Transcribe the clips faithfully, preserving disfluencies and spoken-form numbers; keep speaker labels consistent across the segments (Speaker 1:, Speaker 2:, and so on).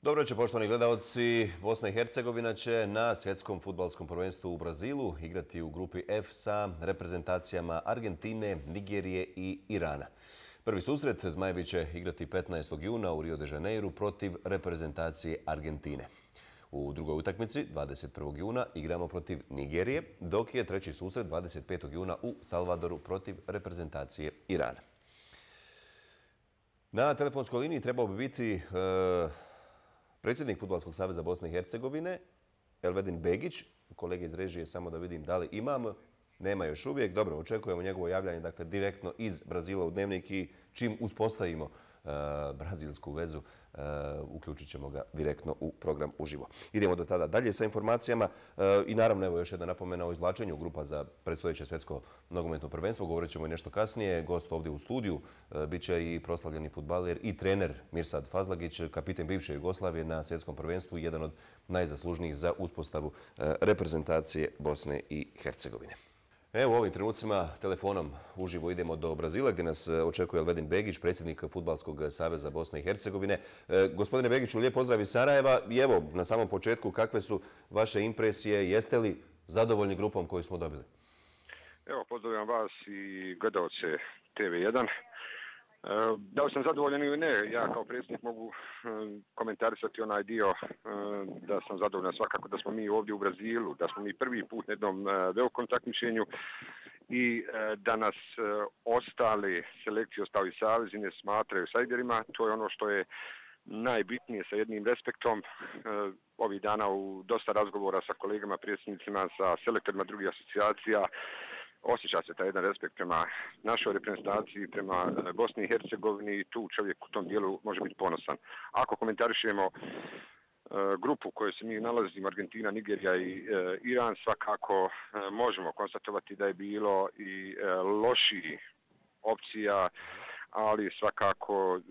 Speaker 1: Dobro večer, poštovani gledalci. Bosna i Hercegovina će na svjetskom fudbalskom prvenstvu u Brazilu igrati u grupi F sa reprezentacijama Argentine, Nigerije i Irana. Prvi susret Zmajevi će igrati petnaestog juna u Rio de Janeiru protiv reprezentacije Argentine. U drugoj utakmici, dvadeset prvog juna, igramo protiv Nigerije, dok je treći susret dvadeset petog juna u Salvadoru protiv reprezentacije Irana. Na telefonskoj liniji trebao bi biti e, predsjednik Fudbalskog saveza Bosne i Hercegovine, Elvedin Begić. Kolege iz režije, samo da vidim da li imam. Nema još uvijek. Dobro, očekujemo njegovo javljanje dakle, direktno iz Brazila u Dnevnik i čim uspostavimo uh, brazilsku vezu, uh, uključit ćemo ga direktno u program uživo. Idemo do tada dalje sa informacijama uh, i naravno evo još jedna napomena o izvlačenju grupa za predstojeće svjetsko nogometno prvenstvo. Govorit ćemo i nešto kasnije. Gost ovdje u studiju uh, bit će i proslavljeni fudbaler i trener Mirsad Fazlagić, kapiten bivše Jugoslavije na svjetskom prvenstvu i jedan od najzaslužnijih za uspostavu uh, reprezentacije Bosne i Hercegovine. Evo u ovim trenucima telefonom uživo idemo do Brazila gdje nas očekuje Elvedin Begić, predsjednik Fudbalskog saveza Bosne i Hercegovine. E, gospodine Begiću, lijep pozdrav iz Sarajeva i evo na samom početku kakve su vaše impresije, jeste li zadovoljni grupom koju smo dobili?
Speaker 2: Evo, pozdravljam vas i gledalce T V jedan. Da li sam zadovoljan ili ne, ja kao predsjednik mogu komentarisati onaj dio da sam zadovoljan svakako da smo mi ovdje u Brazilu, da smo mi prvi put na jednom velikom takmičenju i da nas ostale selekcije, ostali savezi ne smatraju sajderima. To je ono što je najbitnije sa jednim respektom. Ovih dana u dosta razgovora sa kolegama, predsjednicima, sa selektorima drugih asocijacija, osjeća se taj jedan respekt prema našoj reprezentaciji, prema Bosni i Hercegovini i tu čovjek u tom dijelu može biti ponosan. Ako komentarišemo uh, grupu u kojoj se mi nalazimo, Argentina, Nigerija i uh, Iran, svakako uh, možemo konstatovati da je bilo i uh, loših opcija, ali svakako uh,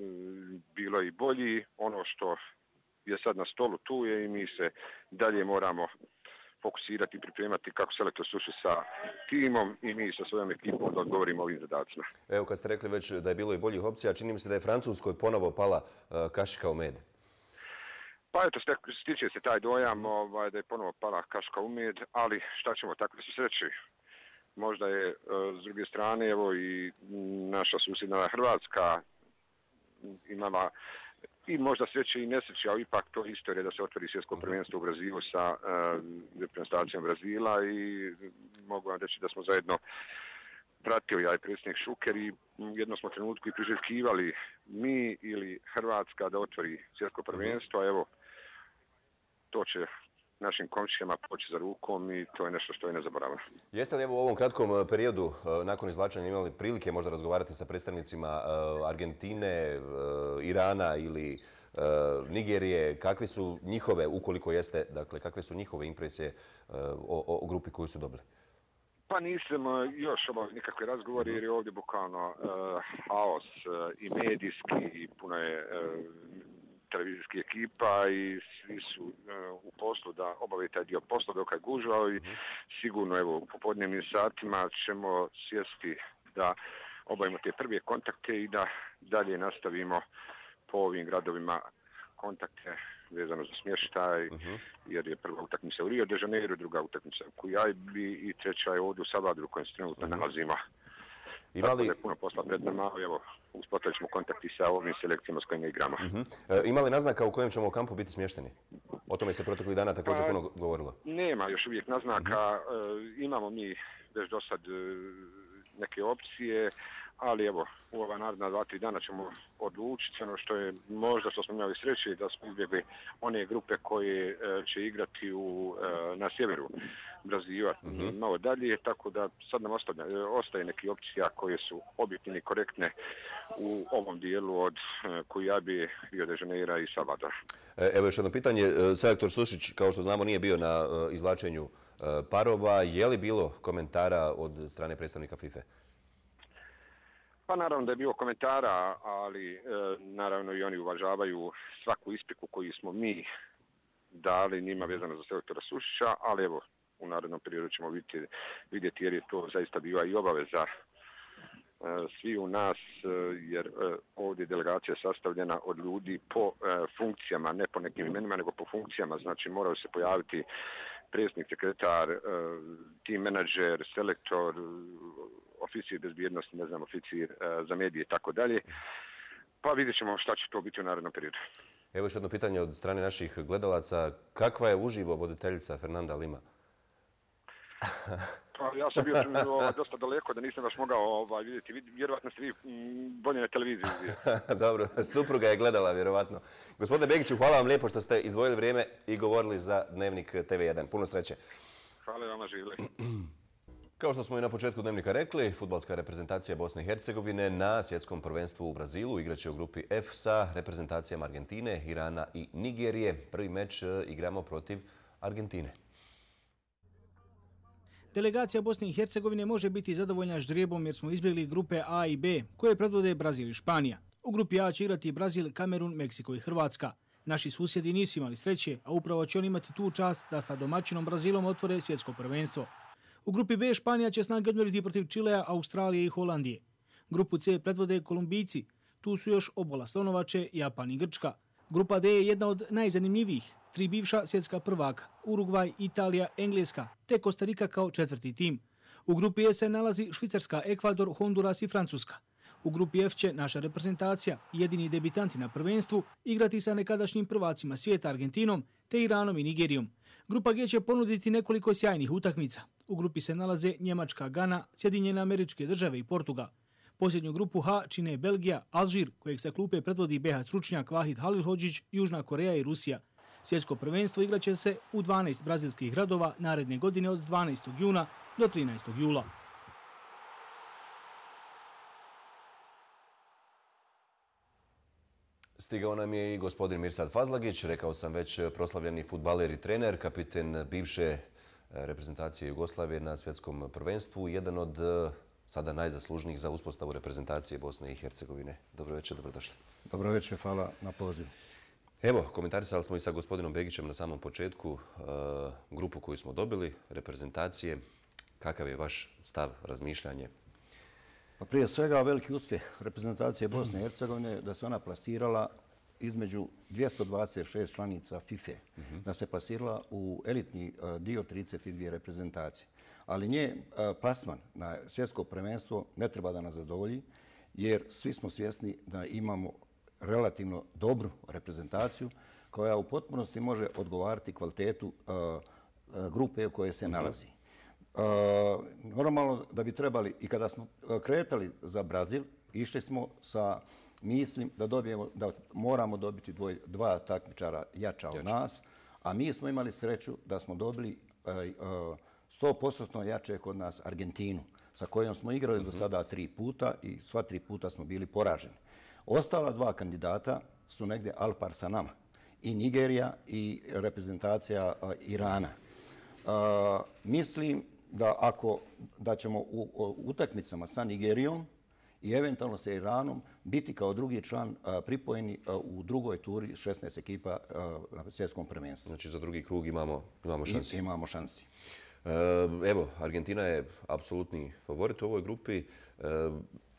Speaker 2: bilo i bolji. Ono što je sad na stolu tu je i mi se dalje moramo fokusirati i pripremati kako selektor suši sa timom i mi sa svojom ekipom da odgovorimo ovim zadacima.
Speaker 1: Evo kad ste rekli već da je bilo i boljih opcija, čini mi se da je Francuskoj ponovo pala uh, kašika u med.
Speaker 2: Pa eto, stiče se taj dojam ovaj, da je ponovo pala kašika u med, ali šta ćemo, tako da se sreći. Možda je uh, s druge strane evo i naša susjedna Hrvatska imala i možda sreće i nesreće, ali ipak to isto je da se otvori svjetsko prvenstvo u Brazilu sa uh, reprezentacijom Brazila i mogu vam reći da smo zajedno pratili ja i predsjednik Šuker i jedno smo trenutku i priželjkivali mi ili Hrvatska da otvori svjetsko prvenstvo, a evo to će našim komšijama poći za rukom i to je nešto što je nezaboravno. Jeste
Speaker 1: li evo u ovom kratkom periodu nakon izvlačenja imali prilike možda razgovarati sa predstavnicima Argentine, Irana ili Nigerije? Kakve su njihove, ukoliko jeste, dakle, kakve su njihove impresije o, o grupi koju su dobili?
Speaker 2: Pa nisam još obavio nikakve razgovore jer je ovdje bukvalno uh, haos uh, i medijski i puno je uh, televizijskih ekipa i svi su uh, u poslu da obave taj dio posla dok je gužvao i sigurno evo u popodnevnim satima ćemo sjesti da obavimo te prve kontakte i da dalje nastavimo po ovim gradovima kontakte vezano za smještaj, uh-huh. jer je prva utakmica u Rio de Janeiru, druga utakmica u Kujajbi i treća je ovdje u Salvadoru u kojem se trenutno uh-huh. nalazimo. Tako da je puno posla pred nama, evo, uspostavit ćemo kontakti sa ovim selekcijama s kojima igramo.
Speaker 1: Uh-huh. E, ima li naznaka u kojem ćemo u kampu biti smješteni? O tome se proteklih dana također pa, puno govorilo.
Speaker 2: Nema još uvijek naznaka, uh-huh. e, imamo mi već do sad e, neke opcije, ali evo, u ova naredna dva, tri dana ćemo odlučiti. Ono što je možda što smo imali sreće da smo izbjegli one grupe koje e, će igrati u, e, na sjeveru Brazila, mm-hmm. malo dalje, tako da sad nam ostaje, ostaje neke opcija koje su objektivne i korektne u ovom dijelu od e, Kujajbe, Rio de Janeira i Salvadora.
Speaker 1: Evo još jedno pitanje. Selektor Sušić, kao što znamo, nije bio na e, izvlačenju e, parova. Je li bilo komentara od strane predstavnika FIFA?
Speaker 2: Pa naravno da je bilo komentara, ali e, naravno i oni uvažavaju svaku ispriku koju smo mi dali njima vezano za selektora Sušića, ali evo u narednom periodu ćemo vidjeti, vidjeti jer je to zaista bila i obaveza svi u nas, jer ovdje je delegacija sastavljena od ljudi po funkcijama, ne po nekim imenima, nego po funkcijama. Znači moraju se pojaviti predsjednik, sekretar, tim menadžer, selektor, oficir bezbjednosti, ne znam, oficir za medije i tako dalje. Pa vidjet ćemo šta će to biti u narednom periodu.
Speaker 1: Evo još jedno pitanje od strane naših gledalaca. Kakva je uživo voditeljica Fernanda Lima?
Speaker 2: Pa ja sam bio ovaj, dosta daleko da nisam baš mogao ovaj, vidjeti. Vjerovatno ste vi bolje na televiziji.
Speaker 1: Dobro, supruga je gledala vjerovatno. Gospodine Begiću, hvala vam lijepo što ste izdvojili vrijeme i govorili za Dnevnik T V jedan. Puno sreće.
Speaker 2: Hvala vama, živjeli.
Speaker 1: Kao što smo i na početku Dnevnika rekli, fudbalska reprezentacija Bosne i Hercegovine na svjetskom prvenstvu u Brazilu igraće u grupi F sa reprezentacijama Argentine, Irana i Nigerije. Prvi meč igramo protiv Argentine.
Speaker 3: Delegacija Bosne i Hercegovine može biti zadovoljna ždrijebom jer smo izbjegli grupe A i B, koje predvode Brazil i Španija. U grupi A će igrati Brazil, Kamerun, Meksiko i Hrvatska. Naši susjedi nisu imali sreće, a upravo će oni imati tu čast da sa domaćinom Brazilom otvore svjetsko prvenstvo. U grupi B Španija će snage odmjeriti protiv Čilea, Australije i Holandije. Grupu C predvode Kolumbijci, tu su još obola Slonovače, Japan i Grčka. Grupa D je jedna od najzanimljivijih, tri bivša svjetska prvaka, Urugvaj, Italija, Engleska, te Kostarika kao četvrti tim. U grupi E se nalazi Švicarska, Ekvador, Honduras i Francuska. U grupi F će naša reprezentacija, jedini debitanti na prvenstvu, igrati sa nekadašnjim prvacima svijeta Argentinom, te Iranom i Nigerijom. Grupa G će ponuditi nekoliko sjajnih utakmica. U grupi se nalaze Njemačka, Gana, Sjedinjene Američke Države i Portugal. Posljednju grupu H čine Belgija, Alžir, kojeg sa klupe predvodi B H stručnjak Vahid Halilhodžić, Južna Koreja i Rusija. Svjetsko prvenstvo igraće se u dvanaest brazilskih gradova naredne godine od dvanaestog juna do trinaestog jula.
Speaker 1: Stigao nam je i gospodin Mirsad Fazlagić, rekao sam već proslavljeni fudbaler i trener, kapiten bivše reprezentacije Jugoslavije na svjetskom prvenstvu, jedan od sada najzaslužnijih za uspostavu reprezentacije Bosne i Hercegovine. Dobro večer, dobrodošli.
Speaker 4: Dobro večer, hvala na pozivu.
Speaker 1: Evo, komentarisali smo i sa gospodinom Begićem na samom početku grupu koju smo dobili, reprezentacije. Kakav je vaš stav, razmišljanje?
Speaker 4: Pa prije svega veliki uspjeh reprezentacije Bosne i Hercegovine da se ona plasirala između dvjesto dvadeset šest članica FIFA, da se plasirala u elitni dio trideset dvije reprezentacije. Ali nje plasman na svjetsko prvenstvo ne treba da nas zadovolji, jer svi smo svjesni da imamo relativno dobru reprezentaciju koja u potpunosti može odgovarati kvalitetu grupe u kojoj se nalazi. Normalno da bi trebali, i kada smo kretali za Brazil, išli smo sa mislim da dobijemo, da moramo dobiti dvoj, dva takmičara jača od nas, a mi smo imali sreću da smo dobili sto posto jače kod nas Argentinu, sa kojom smo igrali do sada tri puta i sva tri puta smo bili poraženi. Ostala dva kandidata su negdje al par sa nama, i Nigerija i reprezentacija Irana. Mislim da ako da ćemo u utakmicama sa Nigerijom i eventualno sa Iranom biti kao drugi član pripojeni u drugoj turi šesnaest ekipa na svjetskom prvenstvu.
Speaker 1: Znači za drugi krug imamo, imamo šansi.
Speaker 4: I, imamo šansi.
Speaker 1: Evo, Argentina je apsolutni favorit u ovoj grupi.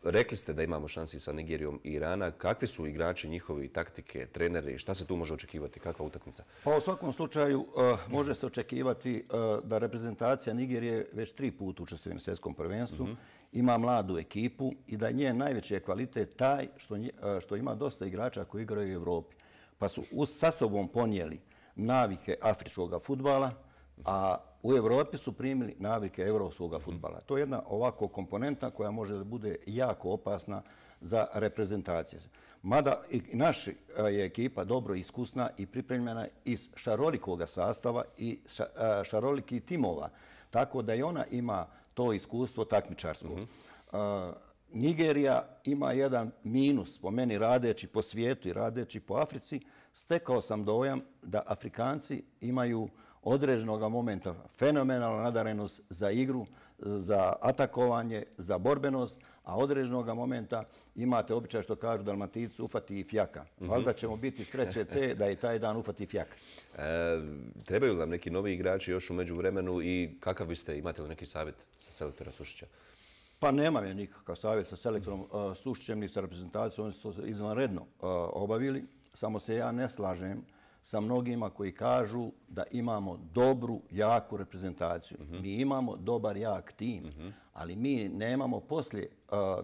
Speaker 1: Rekli ste da imamo šansi sa Nigerijom i Irana. Kakvi su igrači, njihovi taktike, treneri? Šta se tu može očekivati? Kakva utakmica?
Speaker 4: Pa u svakom slučaju uh, može se očekivati uh, da reprezentacija Nigerije već tri puta učestvuje na svjetskom prvenstvu, mm-hmm. ima mladu ekipu i da je njen najveći kvalitet taj što, uh, što ima dosta igrača koji igraju u Evropi. Pa su uz, sa sobom ponijeli navike afričkog fudbala, a u Evropi su primili navike evropskog fudbala. To je jedna ovako komponenta koja može da bude jako opasna za reprezentaciju. Mada i naša je ekipa dobro iskusna i pripremljena iz šarolikog sastava i šarolikih timova, tako da i ona ima to iskustvo takmičarsko. Mm-hmm. Nigerija ima jedan minus, po meni radeći po svijetu i radeći po Africi. Stekao sam dojam da Afrikanci imaju određenog momenta fenomenalna nadarenost za igru, za atakovanje, za borbenost, a određenog momenta imate običaj što kažu Dalmatinci ufati i fjaka. Mm-hmm. Valjda ćemo biti sreće te da je taj dan ufati i fjaka.
Speaker 1: E, trebaju li nam neki novi igrači još u međuvremenu i kakav biste, imate li neki savjet sa selektora Sušića?
Speaker 4: Pa nemam ja nikakav savjet sa selektorom Sušićem ni sa reprezentacijom, oni su to izvanredno obavili. Samo se ja ne slažem sa mnogima koji kažu da imamo dobru, jaku reprezentaciju. Mi imamo dobar, jak tim, ali mi nemamo poslije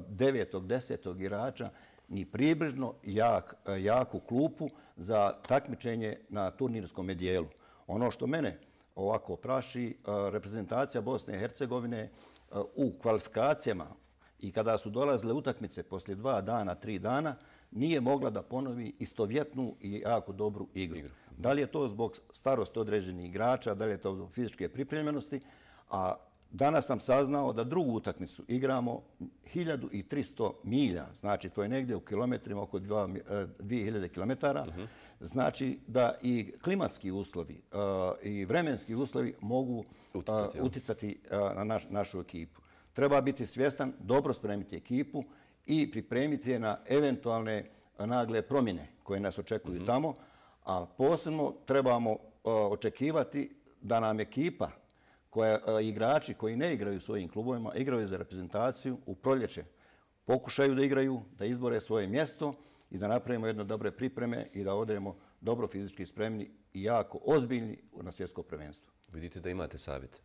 Speaker 4: devetog, desetog igrača ni približno jak, jaku klupu za takmičenje na turnirskom dijelu. Ono što mene ovako praši, reprezentacija Bosne i Hercegovine u kvalifikacijama i kada su dolazile utakmice poslije dva dana, tri dana, nije mogla da ponovi istovjetnu i jako dobru igru. igru. Da li je to zbog starosti određenih igrača, da li je to zbog fizičke pripremljenosti, a danas sam saznao da drugu utakmicu igramo hiljadu tristo milja, znači to je negdje u kilometrima oko dvije hiljade kilometara, uh-huh. Znači da i klimatski uslovi uh, i vremenski uslovi mogu uticati, uh, uticati uh, na naš, našu ekipu. Treba biti svjestan, dobro spremiti ekipu i pripremiti je na eventualne nagle promjene koje nas očekuju uh-huh. tamo, a posebno trebamo uh, očekivati da nam ekipa, koja, uh, igrači koji ne igraju u svojim klubovima, igraju za reprezentaciju u proljeće, pokušaju da igraju, da izbore svoje mjesto i da napravimo jedne dobre pripreme i da odremo dobro fizički spremni i jako ozbiljni na svjetsko prvenstvo.
Speaker 1: Vidite da imate savjet.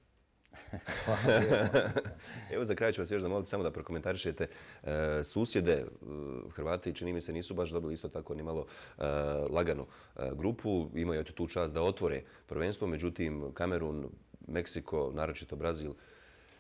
Speaker 1: Evo za kraj ću vas još zamoliti samo da prokomentarišete e, susjede. Hrvati, čini mi se, nisu baš dobili isto tako ni malo e, laganu e, grupu. Imaju tu čast da otvore prvenstvo, međutim Kamerun, Meksiko, naročito Brazil.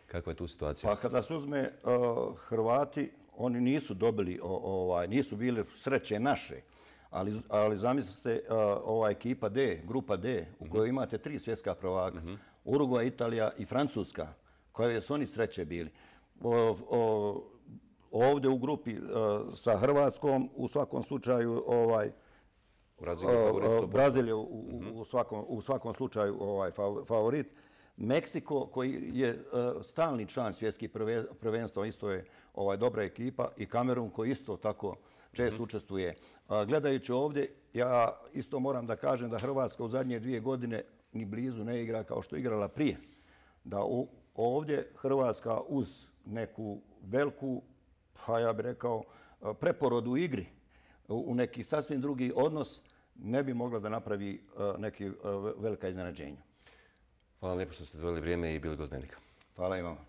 Speaker 1: Kakva je tu situacija?
Speaker 4: Pa kada se uzme uh, Hrvati, oni nisu dobili, ovaj, nisu bili sreće naše, ali, ali zamislite uh, ova ekipa D, grupa D, u kojoj imate tri svjetska prvaka, uh-huh. Urugvaj, Italija i Francuska, koje su oni sreće bili. O, o, ovdje u grupi uh, sa Hrvatskom, u svakom slučaju, ovaj, Brazil je u, uh-huh. u, svakom, u svakom slučaju ovaj, favorit. Meksiko, koji je uh, stalni član svjetskih prvenstva, isto je ovaj, dobra ekipa, i Kamerun, koji isto tako često mm-hmm. učestvuje. Uh, gledajući ovdje, ja isto moram da kažem da Hrvatska u zadnje dvije godine ni blizu ne igra kao što je igrala prije. Da u, ovdje Hrvatska uz neku veliku, pa ja bih rekao, preporodu u igri, u, u neki sasvim drugi odnos, ne bi mogla da napravi uh, neki uh, velika iznenađenja.
Speaker 1: Hvala vam lijepo što ste izdvojili vrijeme i bili gost Dnevnika.
Speaker 4: Hvala i vama.